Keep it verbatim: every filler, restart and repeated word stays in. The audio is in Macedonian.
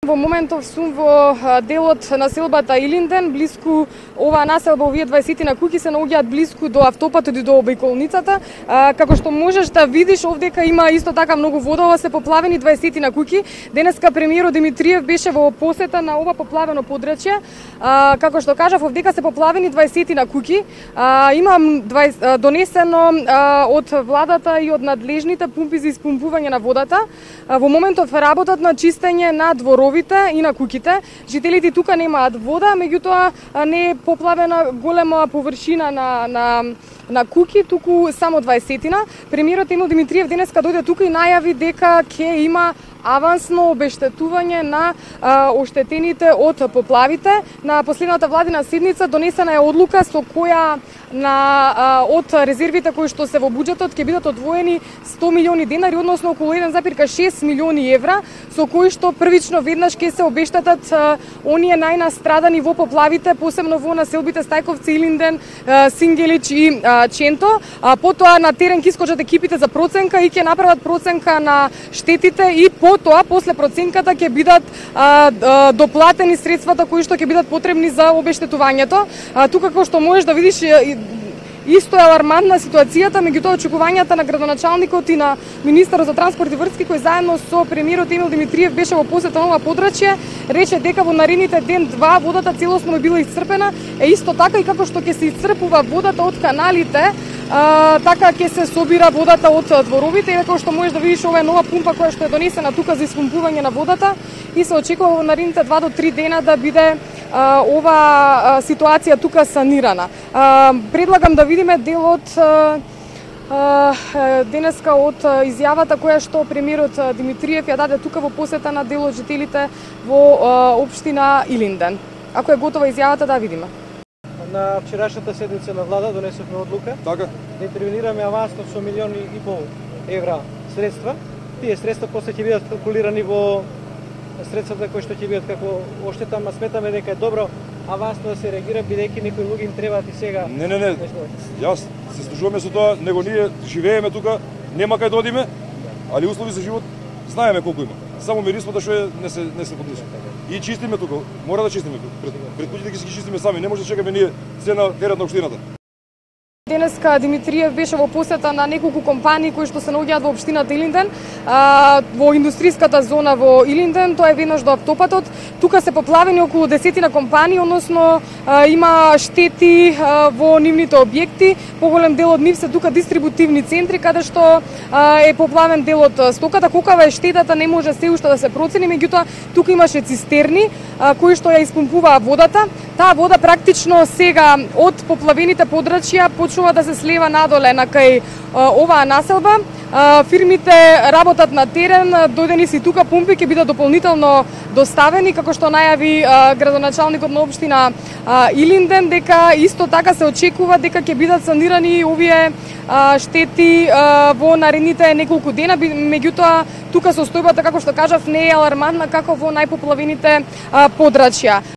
Во моментов сум во делот населбата Илинден, блиску оваа населба, овие дваесет куќи се наоѓаат блиску до автопатот и до обиколницата. Како што можеш да видиш, овдека има исто така многу вода, ова се поплавени дваесет куќи. Денеска премиерот Димитриев беше во посета на ова поплавено подрачје. Како што кажав, овдека се поплавени дваесет куќи. Имам донесено од владата и од надлежните пумпи за испумпување на водата. Во моментов работат на чистење на дворови и на куќите. Жителите тука немаат вода, меѓутоа не е поплавена голема површина на на на куќи, туку само дваесетина. Премиерот Емил Димитриев денеска дојде тука и најави дека ќе има авансно обештетување на а, оштетените од поплавите. На последната владина седница донесена е одлука со која на а, од резервите кои што се во буџетот ќе бидат одвоени сто милиони денари, односно околу еден запирка шест милиони евра, со кои што првично веднаш ќе се обештетат а, оние најнастрадани во поплавите, посебно во населбите Стајковци, Илинден, а, Сингелич и а, Ченто. А, потоа на терен ќе искочат екипите за проценка и ќе направат проценка на штетите и по тоа после проценката ќе бидат а, а, доплатени средствата кои што ќе бидат потребни за обештетувањето. А, тука како што можеш да видиш исто е алармантна ситуацијата, меѓутоа очекувањата на градоначалникот и на министерот за транспорт и врски кој заедно со премиерот Емил Димитриев беше во посета на ова подрачје, рече дека во наредните ден-два водата целосно била исцрпена, е исто така и како што ќе се исцрпува водата од каналите, а, така ќе се собира водата од дворовите и како што можеш да видиш, ова е нова пумпа која што е донесена тука за испумпување на водата и се очекува во наредните два до три дена да биде а, ова а, ситуација тука санирана. А, предлагам да видиме делот а, а, денеска од изјавата која што премиерот Димитриев ја даде тука во посета на дел од жителите во а, општина Илинден. Ако е готова изјавата, да видиме. На вчерашната седница на влада донесовме одлука така да интервенираме авансно со милиони и пол евра средства. Тие средства после ќе бидат калкулирани во средствата кои што ќе бидат како оштета, ама сметаме дека е добро авансно да се реагира, бидејќи некои луѓе им требаат и сега. Не, не, не. Јас се служуваме со тоа, него ние живееме тука, нема кај да одиме, али услови за живот знаеме колку има. Само мирисмата што е не се не се подлежи. И чистиме тука, мора да чистиме пред, пред куќите ќе си ги чистиме сами, не може да чекаме ние се на терет на општината. Денеска Димитриев беше во посета на неколку компании кои што се наоѓаат во општината Илинден, а, во индустријската зона во Илинден, тоа е веднаш до автопатот. Тука се поплавени околу десетина компании, односно а, има штети а, во нивните објекти. Поголем дел од нив се тука дистрибутивни центри каде што а, е поплавен дел од стоката. Колкава е штетата не може се уште да се процени, меѓутоа тука имаше цистерни а, кои што ја испумпуваа водата. Таа вода практично сега од поплавените подрачја почнува да се слева надоле на кај а, оваа населба. А, фирмите работат на терен, дојдени си тука пумпи ќе бидат дополнително доставени, како што најави а, градоначалникот на општина а, Илинден, дека исто така се очекува дека ќе бидат санирани овие а, штети а, во наредните неколку дена, меѓутоа тука состојбата, како што кажав, не е алармантна како во најпоплавените а, подрачја.